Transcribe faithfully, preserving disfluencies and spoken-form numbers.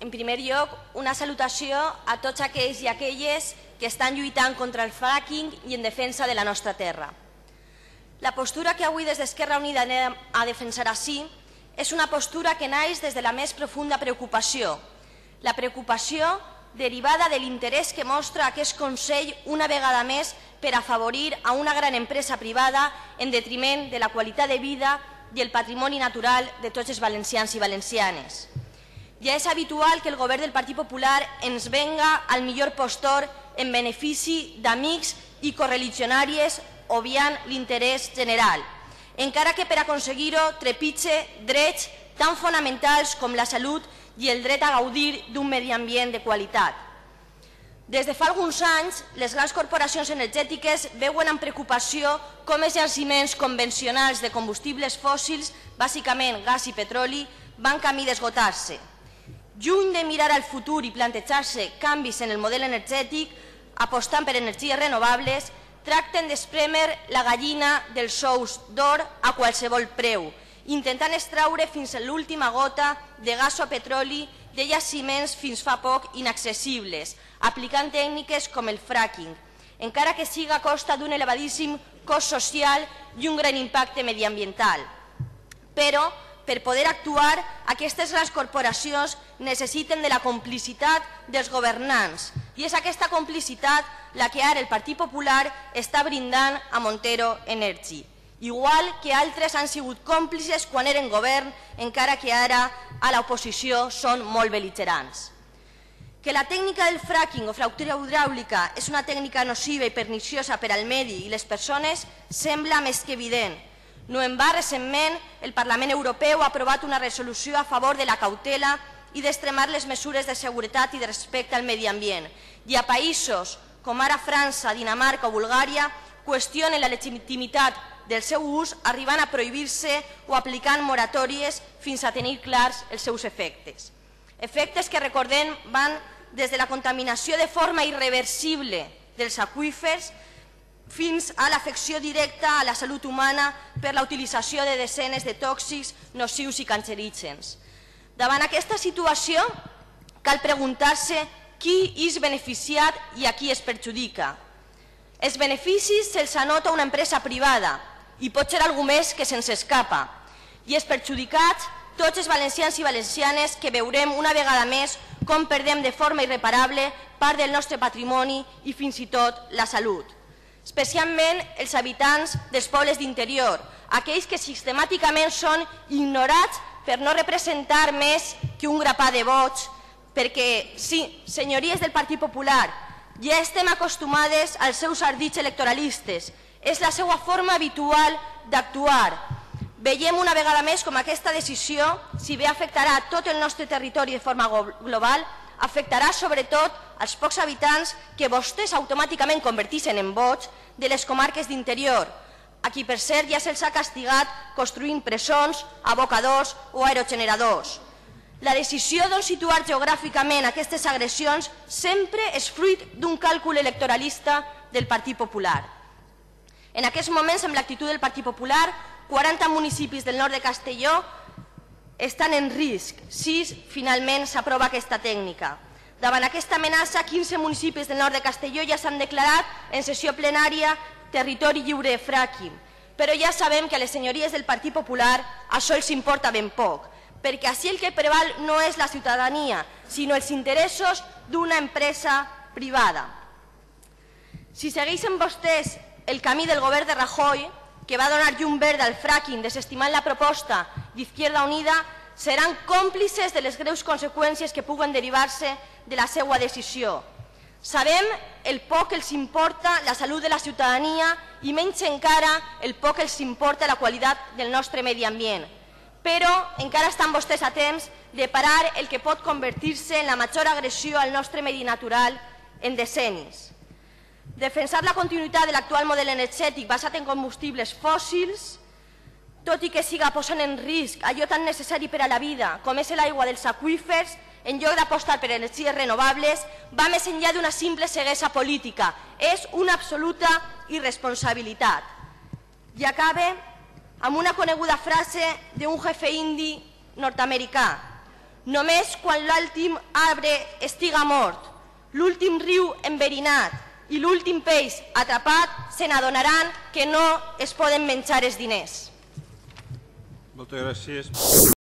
en primer lloc, una salutació a tots aquells i aquelles que estan lluitant contra el fracking i en defensa de la nostra terra. La postura que avui des d'Esquerra Unida anem a defensar ací és una postura que naix des de la més profunda preocupació, la preocupació derivada de l'interès que mostra aquest Consell una vegada més per afavorir a una gran empresa privada en detriment de la qualitat de vida i el patrimoni natural de tots els valencians i valencianes. Ja és habitual que el govern del Partit Popular ens venga al millor postor en benefici d'amics i correligionàries obviant l'interès general, encara que per aconseguir-ho trepitge drets tan fonamentals com la salut i el dret a gaudir d'un medi ambient de qualitat. Des de fa alguns anys, les grans corporacions energètiques veuen amb preocupació com els jaciments convencionals de combustibles fòssils, bàsicament gas i petroli, van camí d'esgotar-se. Lluny de mirar al futur i plantejar-se canvis en el model energètic, apostant per energies renovables, tracten d'esprémer la gallina dels ous d'or a qualsevol preu, intentant extraure fins a l'última gota de gas o petroli de jaciments fins fa poc inaccessibles, aplicant tècniques com el fracking, encara que siga a costa d'un elevadíssim cost social i un gran impacte mediambiental. Però, per poder actuar, aquestes grans corporacions necessiten de la complicitat dels governants, i és aquesta complicitat la que ara el Partit Popular està brindant a Montero Energy, igual que altres han sigut còmplices quan eren govern, encara que ara a l'oposició són molt bel·ligerants. Que la tècnica del fracking o fractura hidràulica és una tècnica nociva i perniciosa per al medi i les persones sembla més que evident. No en va, recentment, el Parlament Europeu ha aprovat una resolució a favor de la cautela i d'extremar les mesures de seguretat i de respecte al medi ambient. I a països com ara França, Dinamarca o Bulgària qüestionen la legitimitat del seu ús, arribant a prohibir-se o aplicant moratòries fins a tenir clars els seus efectes. Efectes que, recordem, van des de la contaminació de forma irreversible dels aqüífers fins a l'afecció directa a la salut humana per la utilització de desenes de tòxics nocius i cancerígens. Davant aquesta situació, cal preguntar-se qui és beneficiat i a qui es perjudica. Els beneficis se'ls anota una empresa privada i pot ser algú més que se'ns escapa. I els perjudicats, tots els valencians i valencianes que veurem una vegada més com perdem de forma irreparable part del nostre patrimoni i fins i tot la salut. Especialment els habitants dels pobles d'interior, aquells que sistemàticament són ignorats per no representar més que un grapà de vots, perquè, sí, senyories del Partit Popular, ja estem acostumades als seus ardits electoralistes, és la seva forma habitual d'actuar. Veiem una vegada més com aquesta decisió, si bé afectarà tot el nostre territori de forma global, afectarà sobretot als pocs habitants que vostès automàticament convertissin en vots de les comarques d'interior, a qui per cert ja se'ls ha castigat construint presons, abocadors o aerogeneradors. La decisió d'on situar geogràficament aquestes agressions sempre és fruit d'un càlcul electoralista del Partit Popular. En aquests moments, amb l'actitud del Partit Popular, quaranta municipis del nord de Castelló estan en risc. Sis, finalment, s'aprova aquesta tècnica. Davant aquesta amenaça, quinze municipis del nord de Castelló ja s'han declarat en sessió plenària territori lliure de fracking. Però ja sabem que a les senyories del Partit Popular això els importa ben poc, perquè així el que preval no és la ciutadania, sinó els interessos d'una empresa privada. Si segueixen vostès el camí del govern de Rajoy, que va donar llum verda al fracking desestimant la proposta d'Izquierda Unida, seran còmplices de les greus conseqüències que puguen derivar-se de la seva decisió. Sabem el poc que els importa la salut de la ciutadania i menys encara el poc que els importa la qualitat del nostre medi ambient. Però encara estan vostès a temps de parar el que pot convertir-se en la major agressió al nostre medi natural en decennis. Defensar la continuïtat de l'actual model energètic basat en combustibles fòssils, tot i que siga posant en risc allò tan necessari per a la vida com és l'aigua dels aqüífers, en lloc d'apostar per energies renovables, va més enllà d'una simple ceguesa política. És una absoluta irresponsabilitat. I acabe amb una coneguda frase d'un jefe indi nord-americà. Només quan l'últim arbre estiga mort, l'últim riu enverinat i l'últim peix atrapat se n'adonaran que no es poden menjar els diners. Moltes gràcies.